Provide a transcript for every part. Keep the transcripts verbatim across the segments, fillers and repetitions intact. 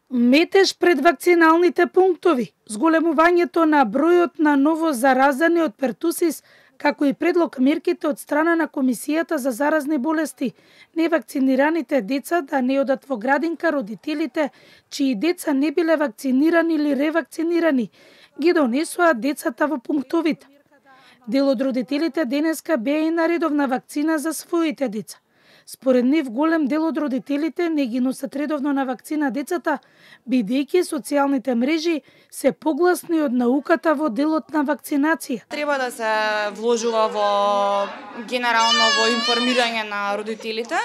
Метеж пред вакциналните пунктови, зголемувањето на бројот на ново заразени од пертусис, како и предлог мерките од страна на Комисијата за заразни болести, невакцинираните деца да не одат во градинка, родителите чии деца не биле вакцинирани или ревакцинирани, ги донесоа децата во пунктовите. Дел од родителите денеска беа и на редовна вакцина за своите деца. Според нив, голем дел од родителите не ги носат редовно на вакцина децата, бидејќи социјалните мрежи се погласни од науката во делот на вакцинација. Треба да се вложува во генерално во информирање на родителите.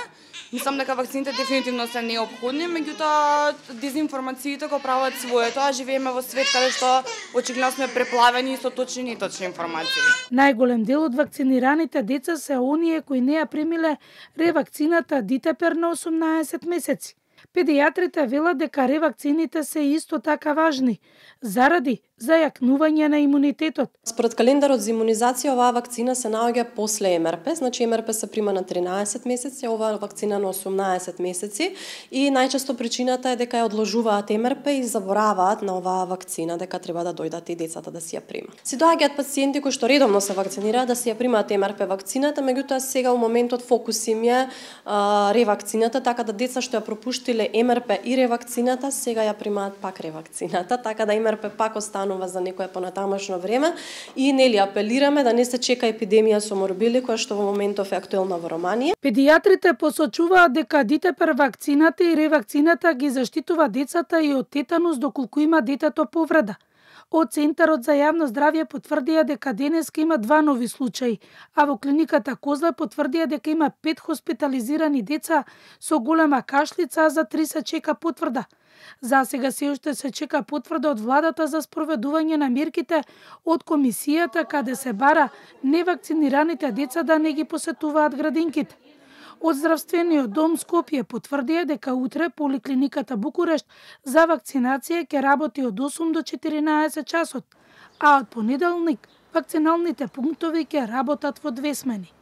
Мислам дека вакцините дефинитивно се неопходни, меѓутоа дезинформациите го прават своето, а живееме во свет каде што очигледно сме преплавени со точни и неточни информации. Најголем дел од вакцинираните деца се оние кои не ја примиле ревакцината Дитепер на осумнаесет месеци. Педијатрите велат дека ревакцините се исто така важни, заради зајакнување на имунитетот. Според календарот за имунизација, оваа вакцина се наоѓа после Ем Ер Пе, значи Ем Ер Пе се прима на тринаесет месеци, а оваа вакцина на осумнаесет месеци, и најчесто причината е дека ја одложуваат Ем Ер Пе и забораваат на оваа вакцина, дека треба да дојдат и децата да си ја примат. Си доаѓаат пациенти кои што редовно се вакцинираат да си ја примаат Ем Ер Пе вакцината, меѓутоа сега во моментот фокус им е а, ревакцината, така да деца што ја пропуштиле Ем Ер Пе и ревакцината, сега ја примаат пак ревакцината, така да Ем Ер Пе пак останува за некое понатамошно време и нели апелираме да не се чека епидемија со морбили која што во моментов е актуелна во Романија. Педијатрите посочуваат дека Дитепер вакцината и ревакцината ги заштитува децата и од тетанус доколку има детето повреда. Од Центарот за јавно здравје потврдија дека денеска има два нови случаи, а во клиниката Козле потврдија дека има пет хоспитализирани деца со голема кашлица, а за три се чека потврда. За сега се уште се чека потврда од владата за спроведување на мерките од комисијата каде се бара невакцинираните деца да не ги посетуваат градинките. Од здравствениот дом Скопје потврдија дека утре поликлиниката Букурешт за вакцинација ќе работи од осум до четиринаесет часот, а од понеделник вакциналните пунктови ќе работат во две смени.